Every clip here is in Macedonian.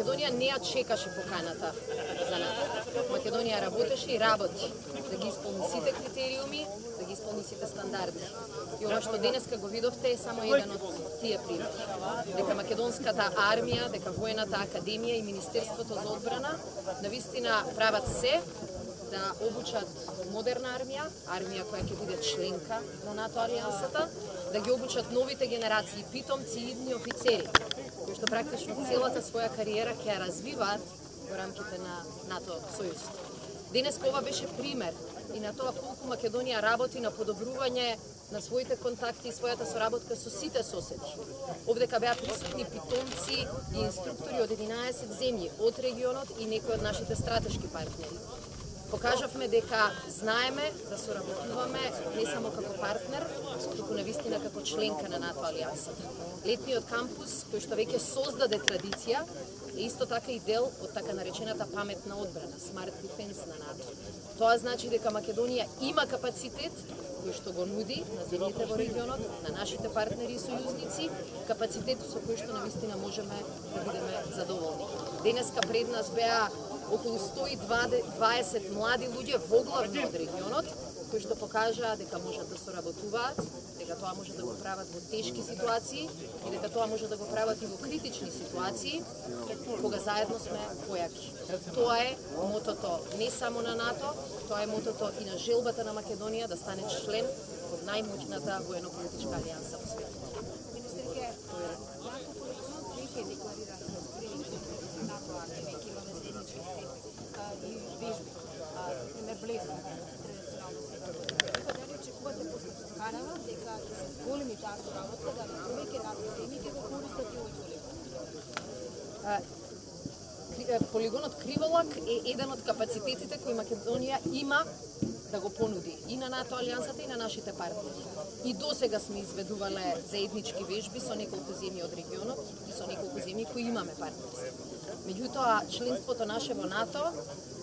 Македонија не ја чекаше поканата за НАТО. Македонија работеше и работи да ги исполни сите критериуми, да ги исполни сите стандарди. И ова што денеска го видовте е само еден од тие примери. Дека македонската армија, дека воената академија и Министерството за одбрана навистина прават се да обучат модерна армија, армија која ќе биде членка на НАТО алијансата, да ги обучат новите генерации питомци и идни офицери, кои што практично целата своја кариера ќе ја развиваат во рамките на НАТО сојузот. Денеска ова беше пример и на тоа колку Македонија работи на подобрување на своите контакти и својата соработка со сите соседи. Овдека беа присутни питомци и инструктори од 11 земји од регионот и некои од нашите стратешки партнери. Покажавме дека знаеме да соработуваме не само како партнер, туку навистина како членка на НАТО алијансата. Летниот кампус, кој што веќе создаде традиција, е исто така и дел од така наречената паметна одбрана, Smart Defense на НАТО. Тоа значи дека Македонија има капацитет кој што го нуди на земјите во регионот, на нашите партнери и сојузници, капацитет со кој што навистина можеме да бидеме задоволни. Денеска пред нас беа околу 120 млади луѓе во главно од регионот, кои што покажаа дека можат да соработуваат, дека тоа може да го прават во тешки ситуации и дека тоа може да го прават и во критични ситуации, кога заедно сме појаки. Тоа е мотото не само на НАТО, тоа е мотото и на желбата на Македонија да стане член од најмоćната воено-политичка алијанса во светот. Министерке, декларира НАТО армија, ќе имаме заеднички и вежби, пример Блесна, традиционално се. Дали очекувате после поканава дека ќе се зголеми таа соработка, дали повеќе НАТО земји ќе го користат и овој полигон? Полигонот Криволак е еден од капацитетите кои Македонија има да го понуди и на НАТО алијансата и на нашите партнери. И досега сме изведувале заеднички вежби со неколку земји од регионот и со неколку земји кои имаме партнерство. Меѓутоа, членството наше во НАТО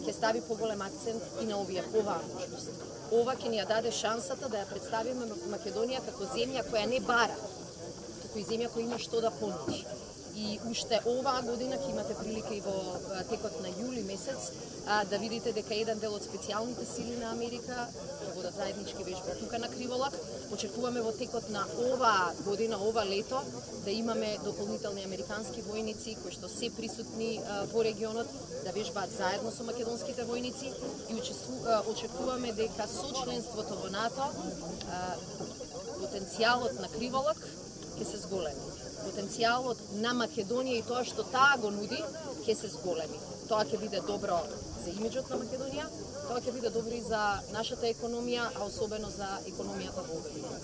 ќе стави поголем акцент и на оваа можност. Ова ќе ни ја даде шансата да ја представиме Македонија како земја која не бара, туку и земја која има што да понуди. И уште оваа година ќе имате прилика и во текот на јули месец да видите дека еден дел од специјалните сили на Америка ќе водат заеднички вежби тука на Криволак. Очекуваме во текот на оваа година, ова лето, да имаме дополнителни американски војници кои што се присутни во регионот, да вежбаат заедно со македонските војници и очекуваме дека со членството во НАТО потенцијалот на Криволак ќе се зголеми. Потенцијалот на Македонија и тоа што таа го нуди ќе се зголеми. Тоа ќе биде добро за имиџот на Македонија, тоа ќе биде добро и за нашата економија, а особено за економијата во овој регион.